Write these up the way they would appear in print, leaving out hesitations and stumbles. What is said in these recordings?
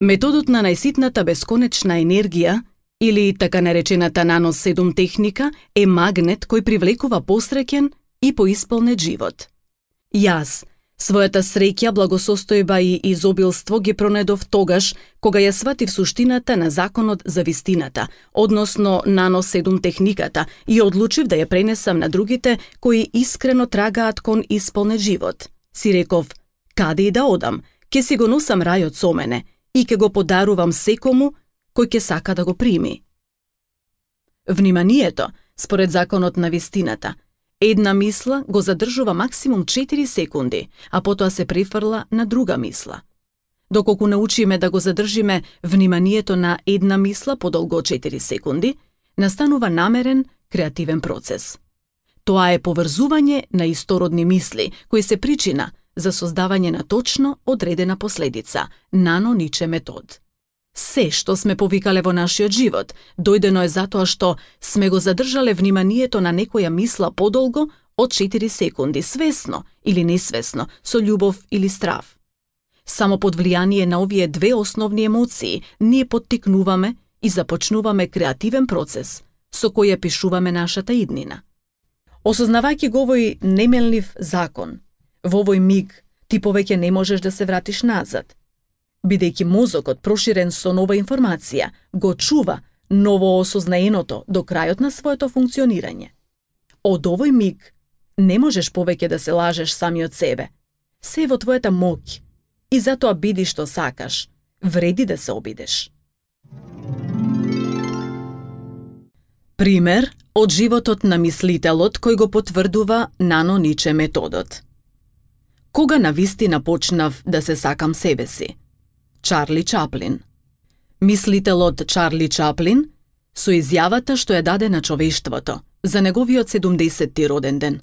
Методот на најситната бесконечна енергија, или така наречената нано-7 техника, е магнет кој привлекува посреќен и поисполнет живот. Јас, својата среќа, благосостојба и изобилство ги пронедов тогаш кога ја сватив суштината на законот за вистината, односно нано-7 техниката, и одлучив да ја пренесам на другите кои искрено трагаат кон исполнет живот. Си реков, каде и да одам, ќе си го носам рајот со мене и ќе го подарувам секому кој ќе сака да го прими. Вниманието, според законот на вистината, една мисла го задржува максимум 4 секунди, а потоа се префрла на друга мисла. Доколку научиме да го задржиме вниманието на една мисла подолго од 4 секунди, настанува намерен, креативен процес. Тоа е поврзување на истородни мисли, кои се причина за создавање на точно одредена последица, нано-ниче метод. Се што сме повикале во нашиот живот, дојдено е затоа што сме го задржале вниманието на некоја мисла подолго од 4 секунди, свесно или несвесно, со љубов или страв. Само под влијание на овие две основни емоции ние поттикнуваме и започнуваме креативен процес со кој ја пишуваме нашата иднина. Осознавајќи го овој немелнив закон, во овој миг ти повеќе не можеш да се вратиш назад. Бидејќи мозокот проширен со нова информација, го чува новоосознаеното до крајот на своето функционирање. Од овој миг не можеш повеќе да се лажеш самиот себе. Се е во твојата моќ и затоа биди што сакаш, вреди да се обидеш. Пример од животот на мислителот кој го потврдува нано-ниче методот. Кога навистина почнав да се сакам себе си? Чарли Чаплин. Мислителот Чарли Чаплин со изјавата што ја даде на човештвото за неговиот 70-ти роден ден,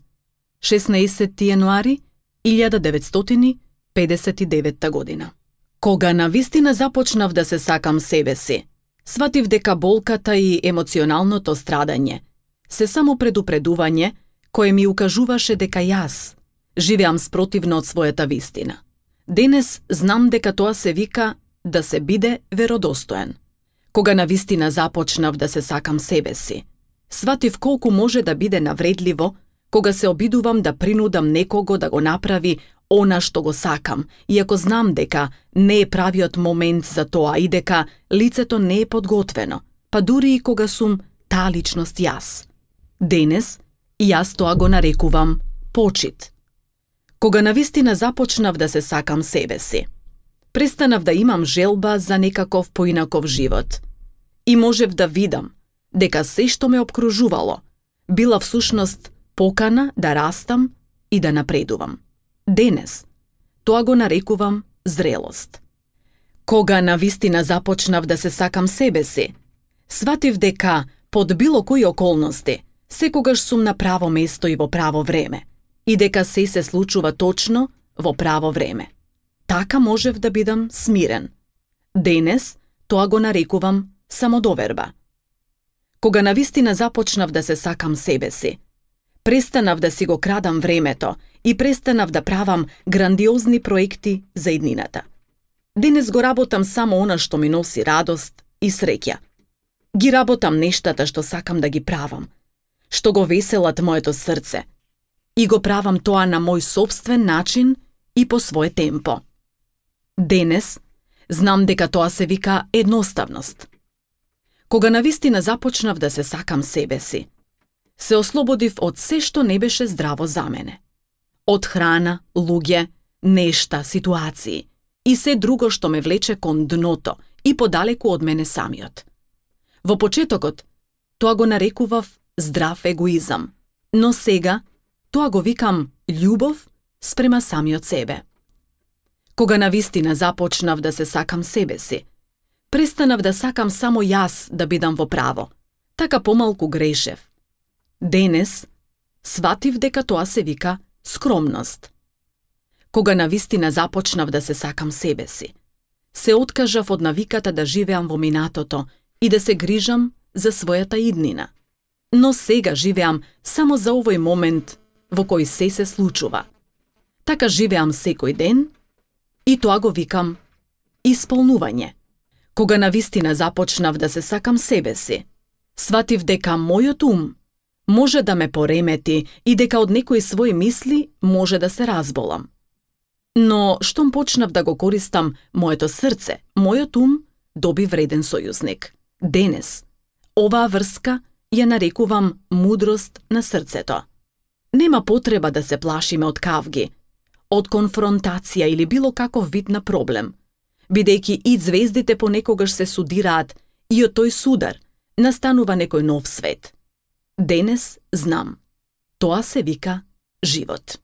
16 јануари 1959 година. Кога навистина започнав да се сакам себе си, сватив дека болката и емоционалното страдање се само предупредување кое ми укажуваше дека јас живеам спротивно од својата вистина. Денес знам дека тоа се вика да се биде веродостоен. Кога навистина започнав да се сакам себе си, сватив колку може да биде навредливо кога се обидувам да принудам некого да го направи она што го сакам, иако знам дека не е правиот момент за тоа и дека лицето не е подготвено, па дури и кога сум таа личност јас. Денес јас тоа го нарекувам почит. Кога навистина започнав да се сакам себе си, престанав да имам желба за некаков поинаков живот и можев да видам дека се што ме обкружувало била всушност покана да растам и да напредувам. Денес тоа го нарекувам зрелост. Кога навистина започнав да се сакам себе си, сватив дека под било кои околности секогаш сум на право место и во право време, и дека се случува точно во право време. Така можев да бидам смирен. Денес тоа го нарекувам самодоверба. Кога навистина започнав да се сакам себе си, престанав да си го крадам времето и престанав да правам грандиозни проекти за иднината. Денес го работам само она што ми носи радост и среќа. Ги работам нештата што сакам да ги правам, што го веселат моето срце, и го правам тоа на мој сопствен начин и по своје темпо. Денес знам дека тоа се вика едноставност. Кога навистина започнав да се сакам себе си, се ослободив од се што не беше здраво за мене. Од храна, луѓе, нешта, ситуации и се друго што ме влече кон дното и подалеку од мене самиот. Во почетокот тоа го нарекував здрав егоизам, но сега тоа го викам љубов спрема самиот себе. Кога навистина започнав да се сакам себе си, престанав да сакам само јас да бидам во право, така помалку грешев. Денес сватив дека тоа се вика скромност. Кога навистина започнав да се сакам себе си, се откажав од навиката да живеам во минатото и да се грижам за својата иднина. Но сега живеам само за овој момент во кој се случува. Така живеам секој ден и тоа го викам исполнување. Кога навистина започнав да се сакам себе си, сватив дека мојот ум може да ме поремети и дека од некои своји мисли може да се разболам. Но штом почнав да го користам моето срце, мојот ум доби вреден сојузник. Денес, оваа врска ја нарекувам мудрост на срцето. Нема потреба да се плашиме од кавги, од конфронтација или било каков вид на проблем, бидејќи и звездите понекогаш се судираат и од тој судар настанува некој нов свет. Денес знам, тоа се вика живот.